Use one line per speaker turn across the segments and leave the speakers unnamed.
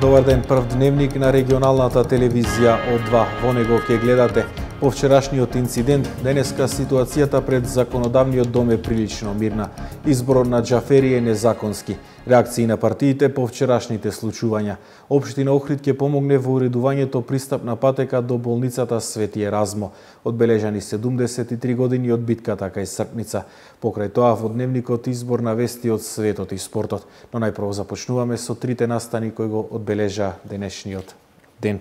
Добар ден, прв дневник на регионалната телевизија од 2. Во него ќе гледате по вчерашниот инцидент. Денеска ситуацијата пред законодавниот дом е прилично мирна. Изборот на Џафери е незаконски. Реакции на партиите по вчерашните случувања. Општина Охрид ќе помогне во уредувањето пристапна патека до болницата Свети Еразмо. Одбележани 73 години од битката кај Српница. Покрај тоа во дневникот избор на вести од светот и спортот. Но најпрво започнуваме со трите настани кои го одбележа денешниот ден.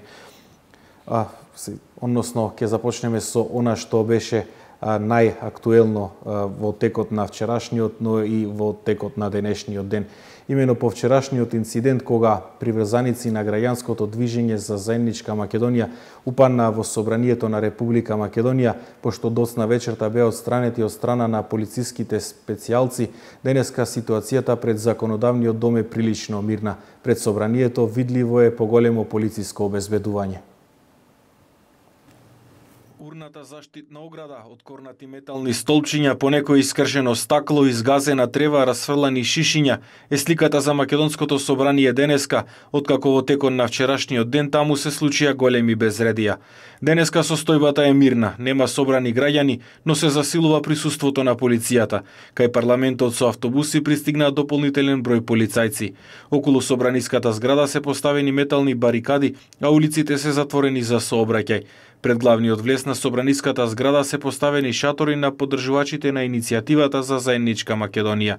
Односно, ќе започнеме со она што беше најактуелно во текот на вчерашниот, но и во текот на денешниот ден. Имено по вчерашниот инцидент кога приврзаници на граѓанското движење за заедничка Македонија упадна во собранието на Република Македонија, пошто доцна вечерта беа отстранети од страна на полициските специјалци, денеска ситуацијата пред законодавниот дом е прилично мирна. Пред собранието видливо е поголемо полициско обезбедување. Урната заштитна ограда, откорнати метални столчиња, понекој искршено стакло, изгазена трева, расфрлани шишиња е сликата за македонското собрание денеска, откако во текот на вчерашниот ден таму се случија големи безредија. Денеска состојбата е мирна, нема собрани граѓани, но се засилува присуството на полицијата. Кај парламентот со автобуси пристигнаа дополнителен број полицајци. Околу собраниската зграда се поставени метални барикади, а улиците се затворени за сообраќај. Пред главниот влез на собраниската зграда се поставени шатори на поддржувачите на иницијативата за заедничка Македонија.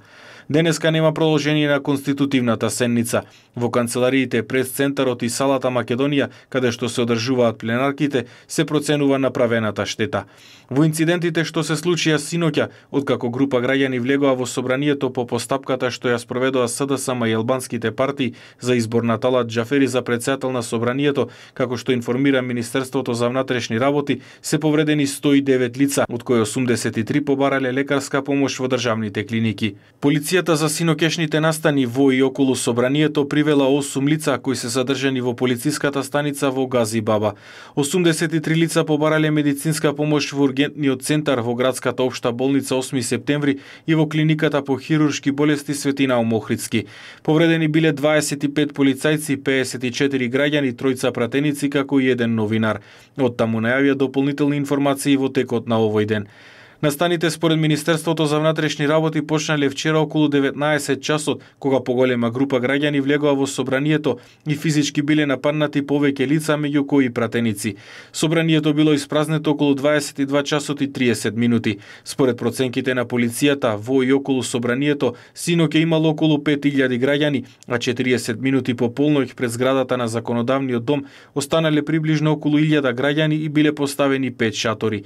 Денеска нема продолжение на конститутивната седница. Во канцелариите пред центарот и салата Македонија, каде што се одржуваат пленарките, се проценува направената штета. Во инцидентите што се случија синоќа, откако група граѓани влегоа во собранието по постапката што ја спроведоа СДСМ и албанските партии за избор на Талат Џафери за претседател на собранието, како што информира Министерството за внатрешни работи, се повредени 109 лица, од кои 83 побарале лекарска помош во државните клиники. Полицијата за синоќешните настани во и околу собранието привела 8 лица кои се задржани во полициската станица во Гази Баба. 83 лица побарале медицинска помош во ургентниот центар во градската општа болница 8 септември и во клиниката по хируршки болести Свети Наум Охридски. Повредени биле 25 полицајци, 54 граѓани, 3 пратеници како и 1 новинар. Од таму најавија дополнителни информации во текот на овој ден. Настаните според Министерството за внатрешни работи почнале вчера околу 19 часот, кога поголема група граѓани влегоа во собранието и физички биле нападнати повеќе лица, меѓу кои пратеници. Собранието било испразнето околу 22 часот и 30 минути. Според проценките на полицијата, во и околу собранието синоќа имало околу 5000 граѓани, а 40 минути по полноќ пред зградата на законодавниот дом останале приближно околу 1000 граѓани и биле поставени 5 шатори.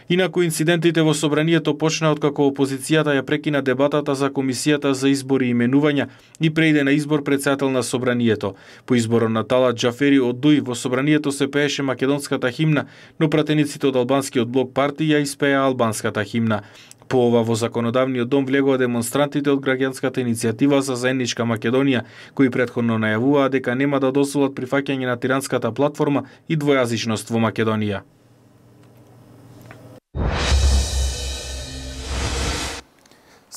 Инаку инцидентите во собранието почнаа откако опозицијата ја прекина дебатата за комисијата за избори и именувања и преиде на избор претседател на собранието. По изборот на Талат Џафери од ДУИ во собранието се пееше македонската химна, но пратениците од албанскиот блок партија испеа албанската химна. По ова во законодавниот дом влегоа демонстрантите од граѓанската иницијатива за заедничка Македонија, кои претходно најавуваа дека нема да дозволат прифаќање на тиранската платформа и двојазичност во Македонија.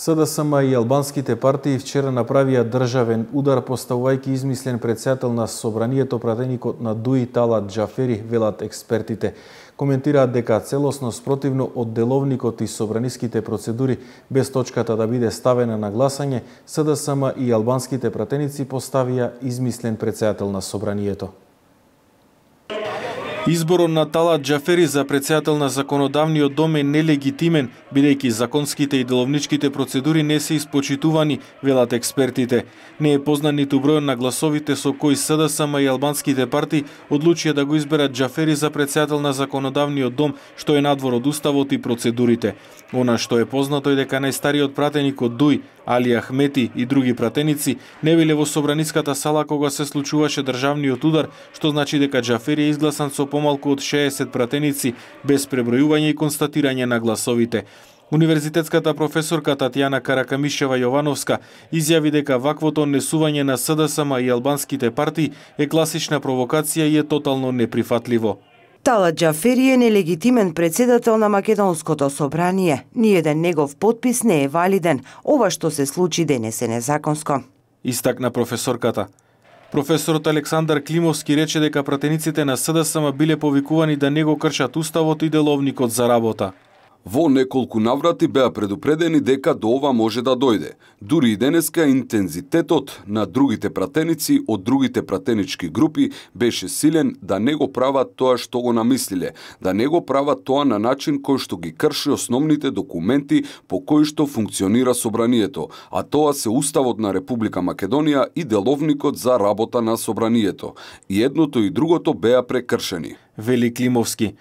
СДСМ и албанските партии вчера направија државен удар поставувајќи измислен претседател на собранието пратеникот на ДУИ Талат Џафери, велат експертите. Коментираат дека целосно спротивно од деловникот и собраниските процедури, без точката да биде ставена на гласање, СДСМ и албанските пратеници поставија измислен претседател на собранието. Изборот на Талат Џафери за претседател на законодавниот дом е нелегитимен, бидејќи законските и деловничките процедури не се испочитувани, велат експертите. Не е познат ниту бројот на гласовите со кои СДСМ и албанските партии одлучија да го изберат Џафери за претседател на законодавниот дом, што е надвор од уставот и процедурите. Она што е познато е дека најстариот пратеник од ДУИ, Али Ахмети и други пратеници не биле во собраниската сала кога се случуваше државниот удар, што значи дека Џафери е изгласан со помалку од 60 пратеници, без пребројување и констатирање на гласовите. Универзитетската професорка Татјана Каракамишева Јовановска изјави дека ваквото однесување на СДСМ и албанските партии е класична провокација и е тотално неприфатливо.
Талат Џафери е нелегитимен претседател на Македонското собрание. Ниеден негов потпис не е валиден. Ова што се случи денес е незаконско.
Истакна професорката. Професорот Александар Климовски рече дека пратениците на СДСМ биле повикувани да не го кршат уставот и деловникот за работа.
Во неколку наврати беа предупредени дека до ова може да дојде. Дури и денеска интензитетот на другите пратеници од другите пратенички групи беше силен да не го прават тоа што го намислиле, да не го прават тоа на начин кој што ги крши основните документи по кои што функционира собранието, а тоа се Уставот на Република Македонија и деловникот за работа на собранието. И едното и другото беа прекршени.
Вели Климовски.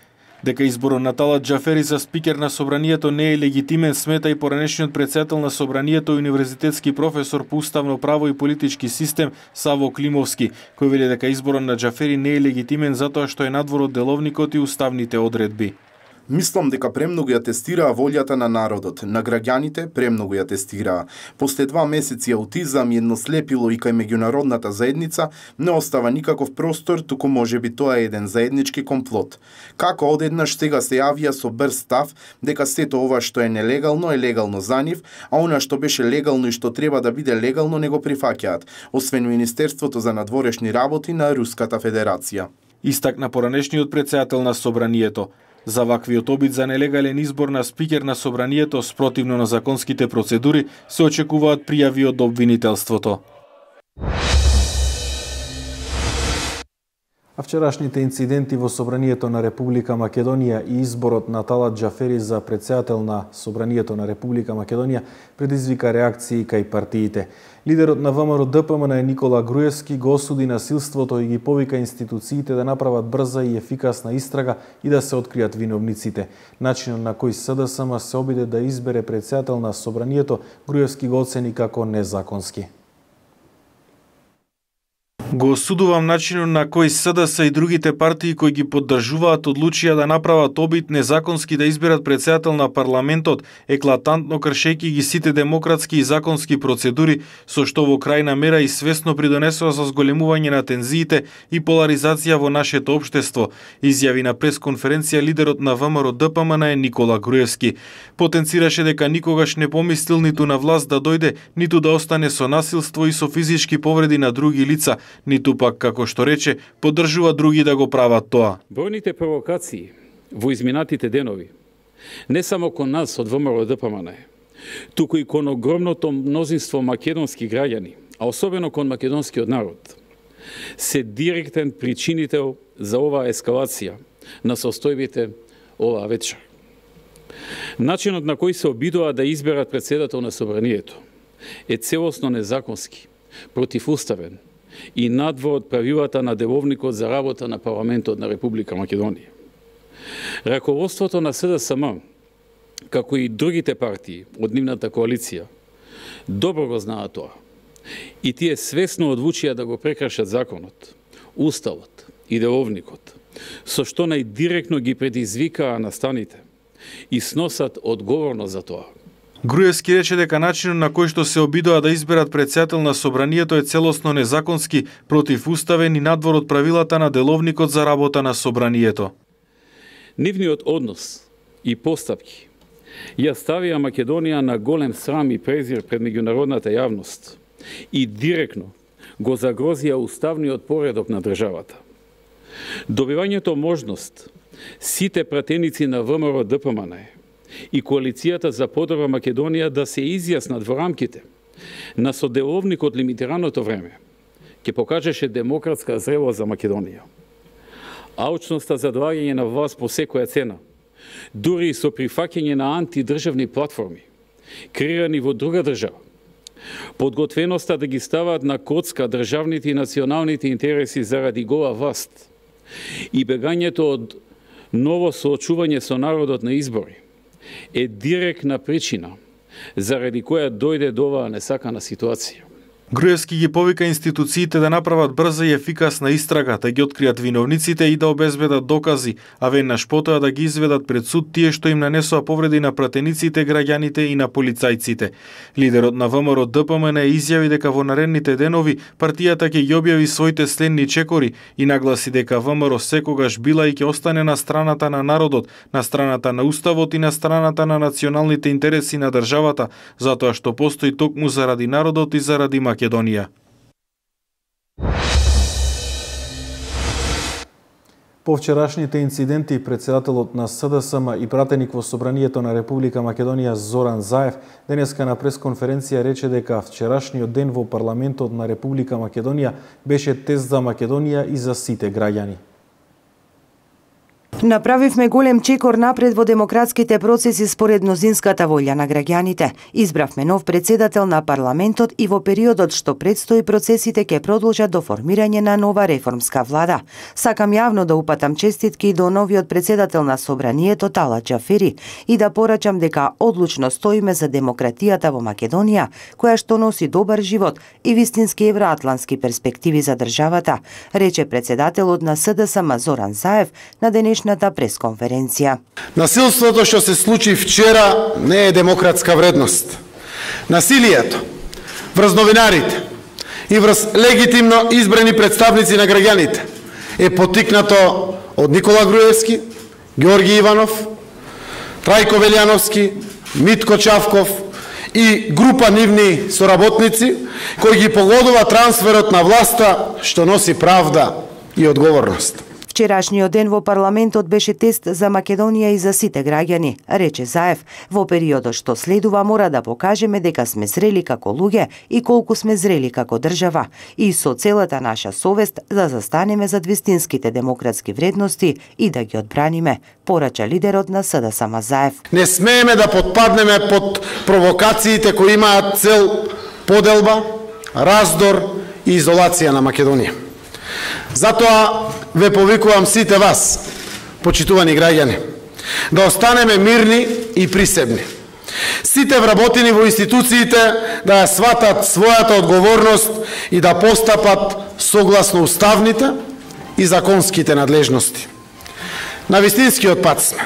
Дека изборот на Талат Џафери за спикер на собранието не е легитимен, смета и поранешниот претседател на собранието и универзитетски професор по уставно право и политички систем Саво Климовски, кој вели дека изборот на Џафери не е легитимен затоа што е надвор од деловникот и уставните одредби.
Мислам дека премногу ја тестираа волјата на народот, на граѓаните премногу ја тестираа. После 2 месеци аутизам и едно слепило и кај меѓународната заедница не остава никаков простор, туку можеби тоа е еден заеднички комплот. Како одеднаш сега се јавија со брз став дека сето ова што е нелегално е легално за нив, а она што беше легално и што треба да биде легално не го прифаќаат, освен Министерството за надворешни работи на Руската Федерација.
Истакна поранешниот претседател на собранието. За ваквиот обид за нелегален избор на спикер на собранието спротивно на законските процедури се очекуваат пријави од обвинителството. А вчерашните инциденти во собранието на Република Македонија и изборот на Талат Џафери за претседател на собранието на Република Македонија предизвика реакции кај партиите. Лидерот на ВМРО ДПМН Никола Груевски го осуди насилството и ги повика институциите да направат брза и ефикасна истрага и да се откријат виновниците. Начинот на кој СДСМ се обиде да избере претседател на собранието, Груевски го оцени како незаконски. Го осудувам начинот на кој СДС и другите партии кои ги поддржуваат одлучија да направат обид незаконски да изберат претседател на парламентот, еклатантно кршејќи ги сите демократски и законски процедури, со што во крајна мера и свесно придонесува за зголемување на тензиите и поларизација во нашето општество, изјави на пресконференција лидерот на ВМРО ДПМН Никола Груевски. Потенцираше дека никогаш не помислил ниту на власт да дојде, ниту да остане со насилство и со физички повреди на други лица, ниту пак, како што рече, поддржува други да го прават тоа.
Бројните провокации во изминатите денови, не само кон нас од ВМРО ДПМН, туку и кон огромното мнозинство македонски граѓани, а особено кон македонскиот народ, се директен причинител за оваа ескалација на состојбите оваа вечер. Начинот на кој се обидува да изберат претседател на собранието е целосно незаконски, противуставен и надвор од правилата на деловникот за работа на парламентот на Република Македонија. Раководството на СДСМ, како и другите партии од нивната коалиција, добро го знаат тоа. И тие свесно одлучија да го прекршат законот, уставот и деловникот, со што најдиректно ги предизвикаа настаните и сносат одговорност за тоа.
Груевски рече дека начинот на кој што се обидува да изберат претседател на собранието е целосно незаконски, противуставен и надвор од правилата на деловникот за работа на собранието.
Нивниот однос и постапки ја ставија Македонија на голем срам и презир пред меѓународната јавност и директно го загрозија уставниот поредок на државата. Добивањето можност сите пратеници на ВМРО ДПМН и коалицијата за подобра Македонија да се изјаснат во рамките на соделовникот лимитираното време, ќе покажеше демократска зрелост за Македонија. Алчноста за доаѓање на власт по секоја цена, дури и со прифаќање на антидржавни платформи, креирани во друга држава, подготвеноста да ги стават на коцка државните и националните интереси заради гола власт и бегањето од ново соочување со народот на избори, е директна причина заради која дојде до оваа несакана ситуација.
Груевски ги повика институциите да направат брза и ефикасна истрага, да ги откријат виновниците и да обезбедат докази, а веднаш потоа да ги изведат пред суд тие што им нанесоа повреди на пратениците, граѓаните и на полицајците. Лидерот на ВМРО ДПМН изјави дека во наредните денови партијата ќе ги објави своите сленни чекори и нагласи дека ВМРО секогаш била и ќе остане на страната на народот, на страната на уставот и на страната на националните интереси на државата, затоа што постои токму заради народот и заради Македонија. По вчерашните инциденти, председателот на СДСМ и пратеник во Собранието на Република Македонија Зоран Заев денеска на пресконференција рече дека вчерашниот ден во парламентот на Република Македонија беше тест за Македонија и за сите граѓани.
Направивме голем чекор напред во демократските процеси според мнозинската волја на граѓаните. Избравме нов председател на парламентот и во периодот што предстои процесите ќе продолжат до формирање на нова реформска влада. Сакам јавно да упатам честитки до новиот председател на Собранието Талат Џафери и да порачам дека одлучно стоиме за демократијата во Македонија, која што носи добар живот и вистински евроатлански перспективи за државата, рече председателот на СДСМ Зоран Заев на денешната пресконференција.
Насилството што се случи вчера не е демократска вредност. Насилието врз новинарите и врз легитимно избрани представници на граѓаните е потикнато од Никола Груевски, Георги Иванов, Трајко Велјановски, Митко Чавков и група нивни соработници кои ги погодува трансферот на власта што носи правда и одговорност.
Вчерашниот ден во парламентот беше тест за Македонија и за сите граѓани, рече Заев. Во периодот што следува мора да покажеме дека сме зрели како луѓе и колку сме зрели како држава и со целата наша совест да застанеме зад вистинските демократски вредности и да ги одбраниме, порача лидерот на СДСМ Заев.
Не смееме да потпаднеме под провокациите кои имаат цел поделба, раздор и изолација на Македонија. Затоа ве повикувам сите вас, почитувани граѓани, да останеме мирни и присебни. Сите вработени во институциите да ја сватат својата одговорност и да постапат согласно уставните и законските надлежности. На вистинскиот пат сме.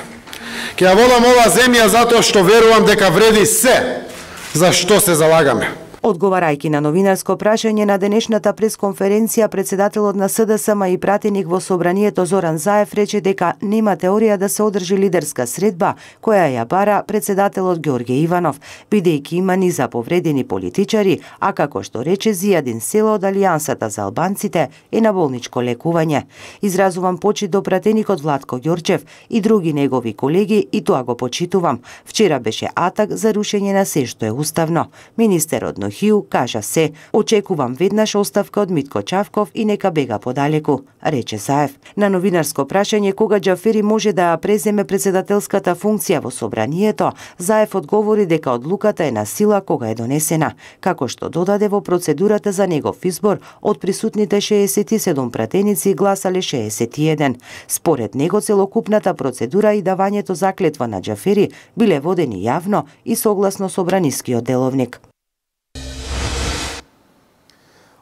Ќе ја водам оваа земја затоа што верувам дека вреди се за што се залагаме.
Одговарајќи на новинарско прашање на денешната пресконференција, председателот на СДСМ и пратеник во Собранието Зоран Заев рече дека нема теорија да се одржи лидерска средба која ја бара председателот Георги Иванов, бидејќи има низа повредени политичари, а како што рече Зијадин Села од Алијансата за албанците е на болничко лекување. Изразувам почит до пратеникот Владко Ѓорчев и други негови колеги и тоа го почитувам. Вчера беше атак за рушење на се што е уставно. Министерот Хиу кажа се, очекувам веднаш оставка од Митко Чавков и нека бега подалеку, рече Заев. На новинарско прашање кога Џафери може да преземе председателската функција во Собранието, Заев одговори дека одлуката е на сила кога е донесена, како што додаде во процедурата за негов избор од присутните 67 пратеници гласале 61. Според него целокупната процедура и давањето заклетва на Џафери биле водени јавно и согласно Собранискиот деловник.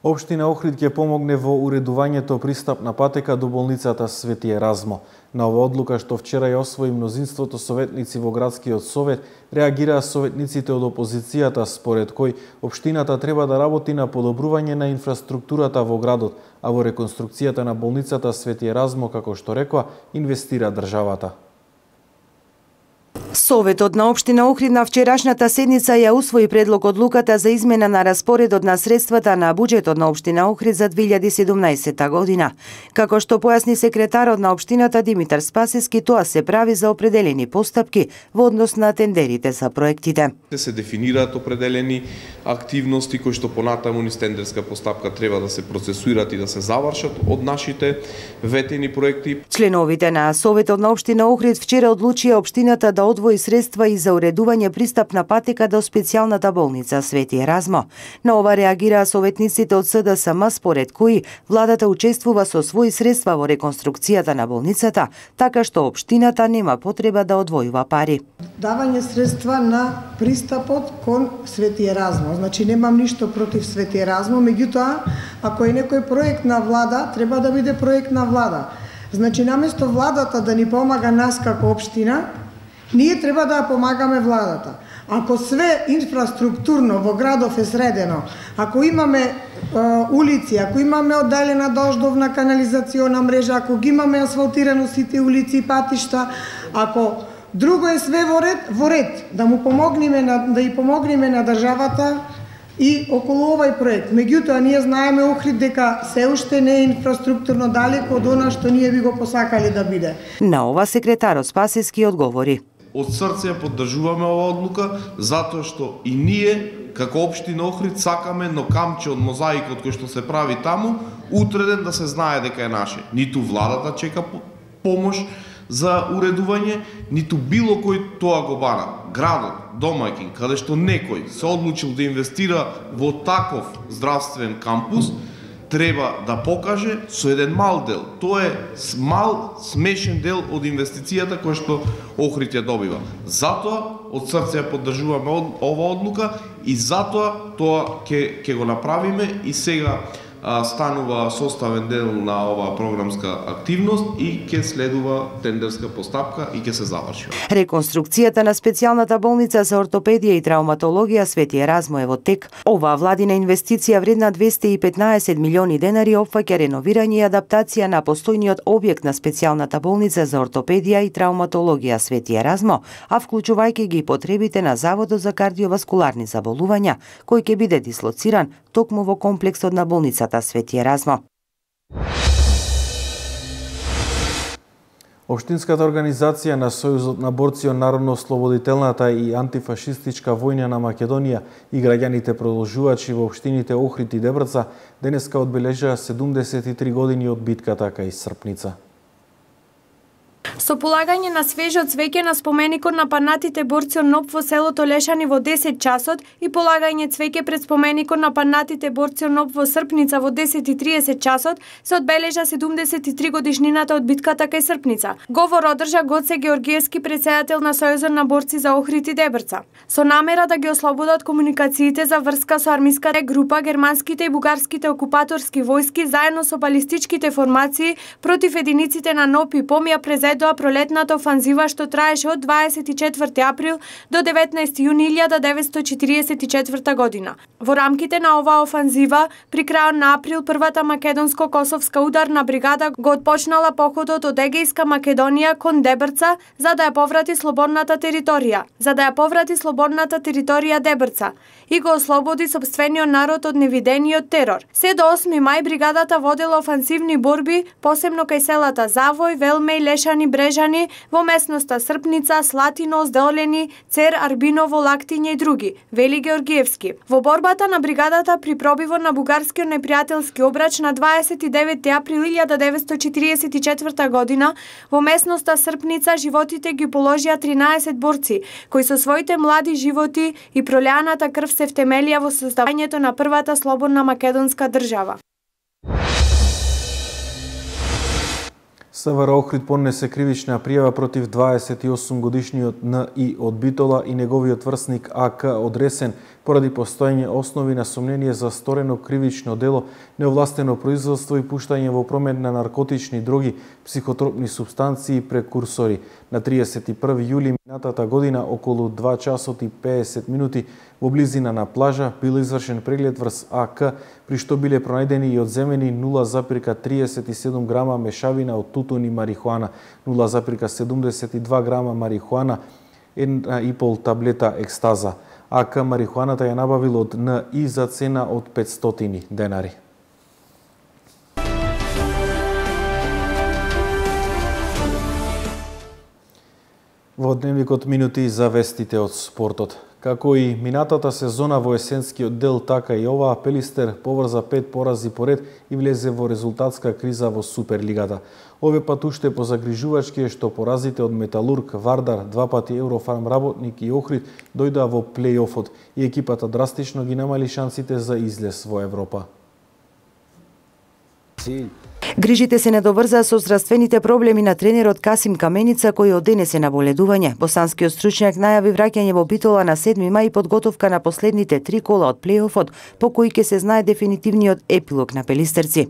Општина Охрид ќе помогне во уредувањето пристапна патека до болницата Свети Еразмо. На оваа одлука што вчера ја освои мнозинството советници во градскиот совет, реагираа советниците од опозицијата според кој општината треба да работи на подобрување на инфраструктурата во градот, а во реконструкцијата на болницата Свети Еразмо, како што рекоа, инвестира државата.
Советот на општина Охрид на вчерашната седница ја усвои предлог одлуката за измена на распоредот на средствата на буџетот на општина Охрид за 2017 година. Како што појасни секретарот на општината Димитар Спасиски, тоа се прави за определени постапки во однос на тендерите за проектите.
Се дефинираат определени активности кои што понатаму низ тендерска постапка треба да се процесуират и да се завршат од нашите ветени проекти.
Членовите на Советот на општина Охрид вчера одлучија општината да одвои средства и за уредување пристапна патека до специјалната болница Свети Еразмо. На ова реагираа советниците од СДСМ, според кои владата учествува со своји средства во реконструкцијата на болницата, така што општината нема потреба да одвојува пари.
Давање средства на пристапот кон Свети Еразмо. Значи немам ништо против Свети Еразмо, меѓутоа ако е некој проект на влада, треба да биде проект на влада. Значи наместо владата да ни помага нас како општина, ние треба да ја помагаме владата. Ако све инфраструктурно во градов е средено, ако имаме улици, ако имаме одделена дождовна канализациона мрежа, ако ги имаме асфалтирано сите улици и патишта, ако друго е све во ред, да му помогнеме да и помогнеме на државата и околу овај проект. Меѓутоа, ние знаеме Охрид дека се уште не е инфраструктурно далеко од она што ние би го посакали да биде.
На ова секретарот Спасевски одговори:
Од срце поддржуваме оваа одлука, затоа што и ние, како општина Охрид, сакаме едно камче од мозаикот кој што се прави таму, утре ден да се знае дека е наше. Ниту владата чека помош за уредување, ниту било кој тоа го бара. Градот, домаќин, каде што некој се одлучил да инвестира во таков здравствен кампус, треба да покаже со еден мал дел. Тоа е мал, смешен дел од инвестицијата која што Охрид ја добива. Затоа, од срце ја поддржуваме оваа одлука и затоа тоа ќе го направиме и сега станува составен дел на оваа програмска активност и ќе следува тендерска постапка и ќе се заврши.
Реконструкцијата на специјалната болница за ортопедија и травматологија Свети Еразмо е во тек. Оваа владина инвестиција вредна 215 милиони денари опфаќа реновирање и адаптација на постојниот објект на специјалната болница за ортопедија и травматологија Свети Еразмо, а вклучувајќи ги потребите на Заводот за кардиоваскуларни заболувања, кој ќе биде дислоциран токму во комплексот на болницата Свети Еразмо.
Општинската организација на Сојузот на борци од народно-ослободителната и антифашистичка војна на Македонија и граѓаните продолжувачи во општините Охрид и Дебрца денеска одбележаа 73 години од битката кај Српница.
Со полагање на свежо цвеќе на споменикот на панатите борци од НОБ во селото Лешани во 10 часот и полагање цвеќе пред споменикот на панатите борци од НОБ во Српница во 10:30 часот се одбележа 73 годишнината од битката кај Српница. Говор одржа Гоце Георгиевски, председател на Сојузот на борци за Охрид и Дебрца. Со намера да ги ослободат комуникациите за врска со армиската група, германските и бугарските окупаторски војски заедно со балистичките формации против единиците на НОБ и ПОМ ја презедоа пролетната офанзива што траеше од 24 април до 19 јуни 1944 година. Во рамките на оваа офанзива, при крајот на април, првата македонско-косовска ударна бригада го отпочнала походот од Егејска Македонија кон Дебрца за да ја поврати слободната територија Дебрца и го ослободи сопствениот народ од невидениот терор. Се до 8 мај бригадата водела офанзивни борби, посебно кај селата Завој, Велмеј, Лешани, Брежани, во местноста Српница, Слатино, Здолени, Цер, Арбиново, Лактиње и други, вели Георгиевски. Во борбата на бригадата при пробивот на бугарскиот непријателски обрач на 29 април 1944 година во местноста Српница животите ги положија 13 борци, кои со своите млади животи и пролеаната крв се втемелија во создавањето на првата слободна македонска држава.
СВР Охрид поднесе кривична пријава против 28 годишниот Н.И. од Битола и неговиот врсник А.К. од Ресен поради постоење основи на сомнение за сторено кривично дело, неовластено производство и пуштање во промет на наркотични дроги, психотропни супстанции и прекурсори. На 31 јули минатата година околу 2 часот и 50 минути во близина на плажа бил извршен преглед врз А.К. при што биле пронајдени и одземени 0,37 грама мешавина од тутун и марихуана, 0,72 грама марихуана, 1,5 таблета екстаза. АК марихуаната ја набавил од Н.И. за цена од 500 денари. Во дневникот минути за вестите од спортот. Како и минатата сезона во есенскиот дел, така и оваа Пелистер поврза 5 порази поред и влезе во резултатска криза во Суперлигата. Ове пат уште позагрижувачки е што поразите од Металург, Вардар, 2 пати Еврофарм работник и Охрид дојдоа во плејофот и екипата драстично ги намали шансите за излез во Европа.
Грижите се недоврзаа со здравствените проблеми на тренерот Касим Каменица, кој од денес е на боледување. Босанскиот стручњак најави враќање во Битола на 7 мај и подготовка на последните 3 кола од плејофот, по кои ќе се знае дефинитивниот епилог на пелистерци.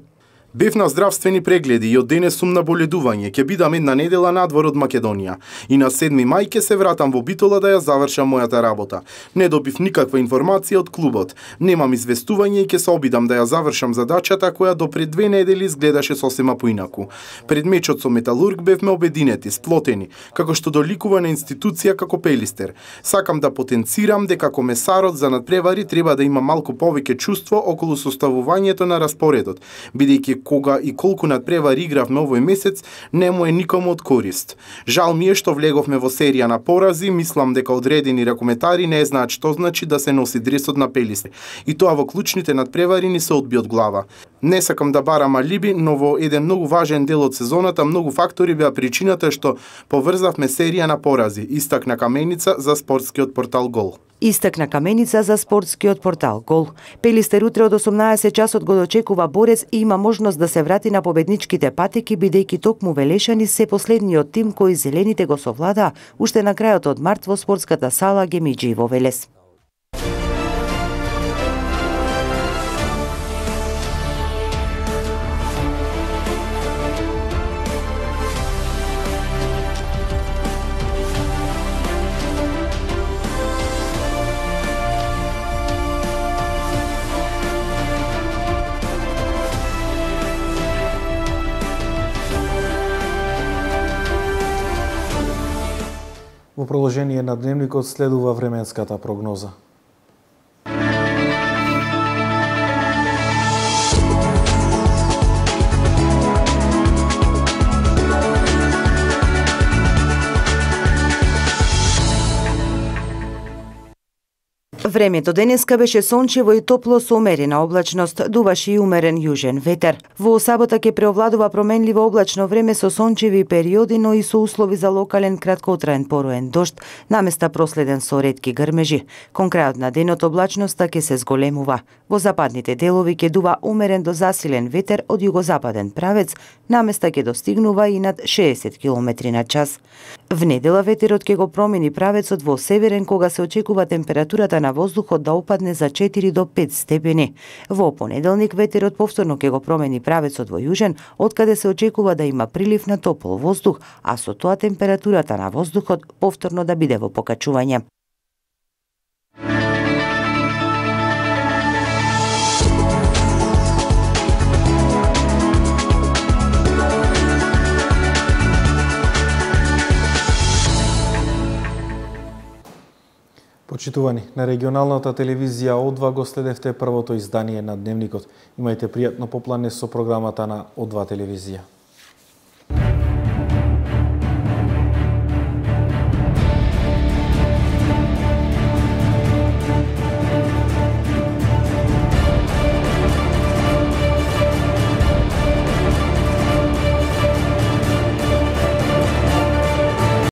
Бев на здравствени прегледи и од денес сум на боледување. Ќе бидам една недела надвор од Македонија. И на 7 мај ќе се вратам во Битола да ја завршам мојата работа. Не добив никаква информација од клубот. Немам известување и ќе се обидам да ја завршам задачата која до пред 2 недели изгледаше сосема поинаку. Пред мечот со Металург бевме обединети, сплотени, како што доликува на институција како Пелистер. Сакам да потенцирам дека комесарот за надпревари треба да има малку повеќе чувство околу составувањето на распоредот, бидејќи кога и колку надпревари игравме овој месец, не му е никому од корист. Жал ми е што влеговме во серија на порази, мислам дека одредени ракометари не знаат што значи да се носи дресот на Пелистер. И тоа во клучните надпревари ни се одби од глава. Не сакам да барам алиби, но во еден многу важен дел од сезоната многу фактори беа причината што поврзавме серија на порази, истакна Каменица за спортскиот портал Гол.
Истакна Каменица за спортскиот портал Гол. Пелистер утре од 18 часот го дочекува борец и има можност да се врати на победничките патеки, бидејќи токму Велешани се последниот тим кој зелените го совлада уште на крајот од март во спортската сала Гемиџи во Велес.
Во продолжение на дневникот следува временската прогноза.
Времето денеска беше сончево и топло со умерена облачност, дуваше и умерен јужен ветер. Во сабота ќе преовладува променливо облачно време со сончеви периоди, но и со услови за локален краткотраен поруен дожд, наместа проследен со ретки грмежи. Кон крајот на денот облачноста ќе се зголемува. Во западните делови ќе дува умерен до засилен ветер од југозападен правец, наместа ќе достигнува и над 60 км на час. В недела ветерот ќе го промени правецот во северен, кога се очекува температурата на воздухот да опадне за 4 до 5 степени. Во понеделник ветерот повторно ќе го промени правецот во јужен, откаде се очекува да има прилив на топол воздух, а со тоа температурата на воздухот повторно да биде во покачување.
Почитувани, на регионалната телевизија О2 го следевте првото издание на Дневникот. Имајте пријатно поплане со програмата на О2 телевизија.